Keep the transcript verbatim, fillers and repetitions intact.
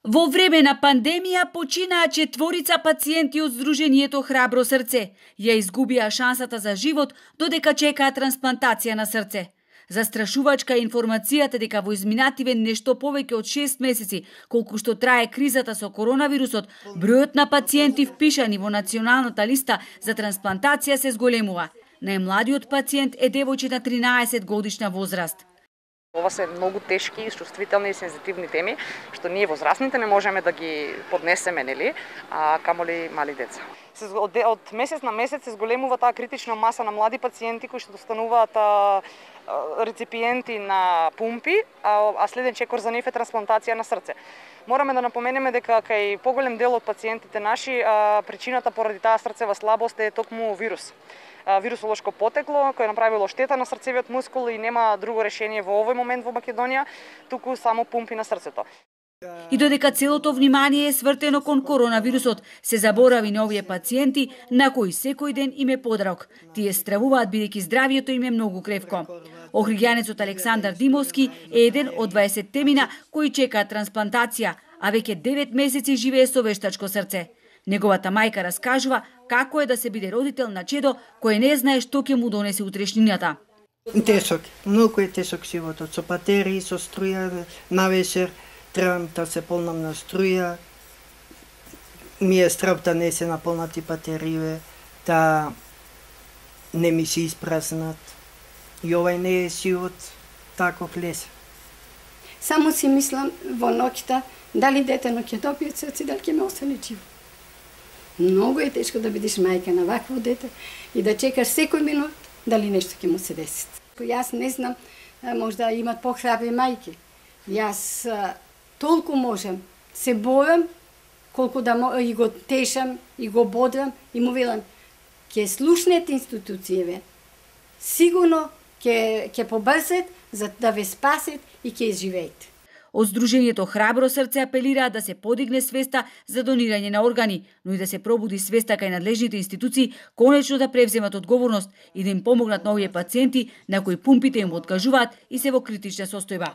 Во време на пандемија починаа четворица пациенти од Сдруженијето Храбро срце. Ја изгубија шансата за живот додека чекаа трансплантација на срце. Застрашувачка е информацијата дека во изминативе нешто повеќе од шест месеци, колку што трае кризата со коронавирусот, бројот на пациенти впишани во националната листа за трансплантација се зголемува. Најмладиот пациент е девојче на тринаесет годишна возраст. Ова се многу тешки, чувствителни и сензитивни теми, што ние возрастните не можеме да ги поднесеме, нели, а камоли мали деца. Од, од месец на месец се зголемува таа критична маса на млади пациенти кои што стануваат реципиенти на пумпи, а, а следен чекор за нив е трансплантација на срце. Мораме да напоменеме дека кај поголем дел од пациентите наши а, причината поради таа срцева слабост е токму вирус. Вирусолошко потекло кој направило штета на срцевиот мускул и нема друго решение во овој момент во Македонија, туку само пумпи на срцето. И додека целото внимание е свртено кон коронавирусот, се заборави на овие пациенти на кои секој ден им е подрок. Тие стравуваат бидејќи здравието им е многу кревко. Охридјанецот Александар Димовски е еден од дваесеттемина кои чекаат трансплантација, а веќе девет месеци живее со вештачко срце. Неговата мајка раскажува како е да се биде родител на чедо кој не знае што ќе му донесе утрешнината. Тешок, многу е тешок животот, со батерии, со струја на вечер, требам да се полнам на струја, ми е страв да не се наполнати батерии, да не ми се испразнат. И овај не е живот таков лес. Само си мислам во ноќта дали детено ќе добие срце, дали ќе ме остане живо. Многу е тешко да бидеш мајка на вакво дете и да чекаш секој минут дали нешто ќе му се деси. Јас не знам, можда имат похрабри мајки. Јас толку можам, се бојам, колку да и го тешам, и го бодрам, и му велам, ќе слушнете институцијеве, сигурно ќе ќе побрзат за да ве спасат и ќе изживеете. Од Сдруженијето Храбро срце апелираа да се подигне свеста за донирање на органи, но и да се пробуди свеста кај надлежните институции конечно да превземат одговорност и да им помогнат на овие пациенти на кои пумпите им откажуваат и се во критична состојба.